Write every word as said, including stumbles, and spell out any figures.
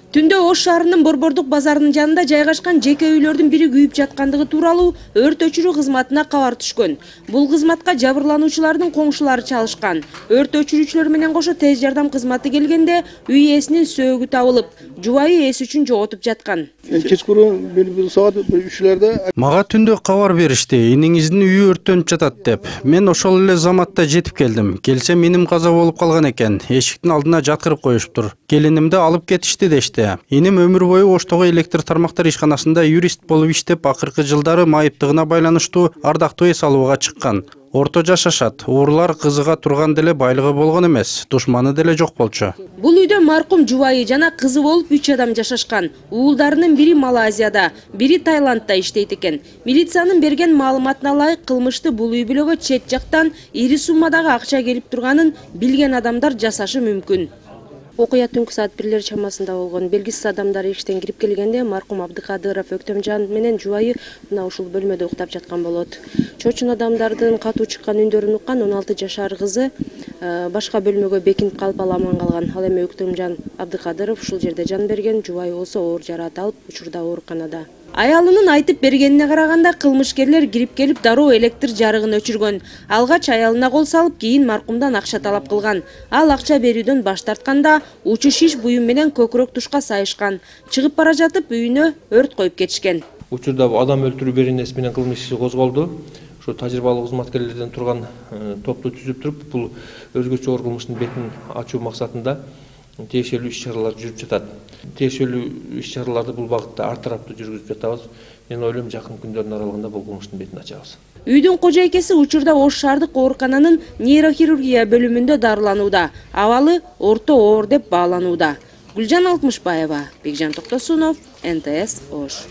Түндө Ош шаарынын Борбордук базарынын жанында жайгашкан жеке үйлөрдүн бири күйүп жаткандыгы тууралуу өрт өчүрүү кызматына кабар түшкөн. Бул кызматка жабырлануучулардын коңшулары чалышкан. Өрт өчүрүүчүлөр менен кошо тез жардам кызматы келгенде үй ээсинин сөөгү табылып, жубайы ээси үчүн жоготуп жаткан. Кечкурун бир саат үчлөрдө мага түндө кабар беришти, иниңиздин үйү өрттөнүп жатат деп. Мен ошол эле заматта жетип келдим. Келсем иним каза болуп калган экен. Эшиктин алдына жаткырып коюшуптур. Келинимди алып кетишти дешти. Иним өмүр бою Оштогу электр тармактар ишканасында юрист болуп иштеп, акыркы жылдары майыптыгына байланыштуу ардактуу эс алууга чыккан. Орто жашашат. Уурлар кызыга турган деле байлыгы болгон эмес, душманы деле жок болчу. Бул үйдө маркум жубайы жана кызы болуп үч адам жашашкан. Уулдарынын бири Малайзияда, бири Таиландда иштейт экен. Милициянын берген маалыматына ылайык, кылмышты бул үй бүлөгө чет жактан ири суммадагы акча келип турганын билген адамдар жасашы мүмкүн. Окуя түнкү саат бирлер чамасында болгон. Белгисиз адамдар эшиктен кирип келгенде маркум Абдыкадыров Өктөмжан менен жубайы мына ушул бөлмөдө уктап жаткан болот. Чочун адамдардын катуу чыккан үндөрүн уккан он алты жашар кызы башка бөлмөгө бекинип калып ал аман калган. Ал эми Өктөмжан Абдыкадыров ушул жерде жан берген, жубайы болсо оор жараат алып, учурда ооруканада. Аялынын айтып бергенине караганда, кылмышкерлер кирип келип дароо электр жарыгын өчүргөн. Алгач аялына кол салып, кийин маркумдан акча талап кылган. Ал акча берүүдөн баш тартканда учу шиш буюм менен көкүрөк тушка сайышкан. Чыгып бара жатып үйүнө өрт коюп кетишкен. Учурда адам өлтүрүү беренеси менен кылмыш иши козголду. Ошо тажрыйбалуу кызматкерлерден турган топту түзүп туруп, бул өзгөчө оор кылмыштын бетин ачуу максатында тиешелүү иш-чаралар жүрүп жатат. Тиешелүү иш-чараларды бул багытта ар тараптуу жүргүзүп жатабыз. Мен ойлойм, жакын күндөрдүн аралыгында бул кылмыштын бетин ачабыз. Үйдүн кожойкеси учурда Ош шаардык оорукананын нейрохирургия бөлүмүндө дарыланууда. Абалы орто оор деп бааланууда. Гүлжан Алтмышбаева, Бекжан Токтосунов, эн тэ эс Ош.